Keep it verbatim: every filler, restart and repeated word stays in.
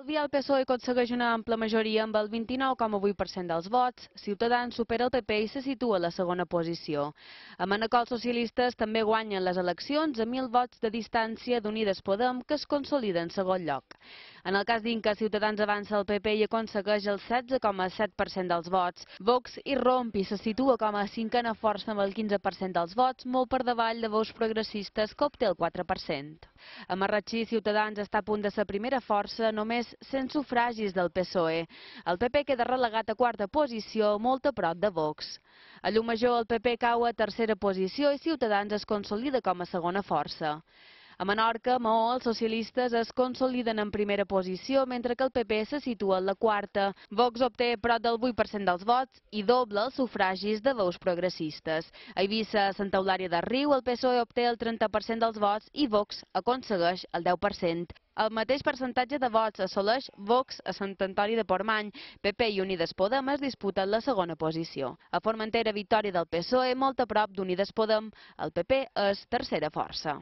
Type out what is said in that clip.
El P S O E aconsegueix una ampla majoria amb el vint-i-nou coma vuit per cent dels vots, Ciutadans supera el P P i se situa a la segona posició. A Manacor els socialistes també guanyen les eleccions a mil vots de distància d'Unides Podem, que es consolida en segon lloc. En el cas d'Inca, Ciutadans avança el P P i aconsegueix el setze coma set per cent dels vots. Vox irromp i se situa com a cinquena força amb el quinze per cent dels vots, molt per davall de Veus Progressistes, que obté el quatre per cent. A Marratxí, Ciutadans està a punt de ser primera força, només cent sufragis del P S O E. El P P queda relegat a quarta posició, molt a prop de Vox. A Llucmajor, el P P cau a tercera posició i Ciutadans es consolida com a segona força. A Menorca, Maó, els socialistes es consoliden en primera posició, mentre que el P P se situa en la quarta. Vox obté prop del vuit per cent dels vots i doble els sufragis de Veus Progressistes. A Eivissa, a Santa Eulària de Riu, el P S O E obté el trenta per cent dels vots i Vox aconsegueix el deu per cent. El mateix percentatge de vots assoleix Vox a Sant Antoni de Portmany. P P i Unides Podem es disputen la segona posició. A Formentera, victòria del P S O E, molt a prop d'Unides Podem. El P P és tercera força.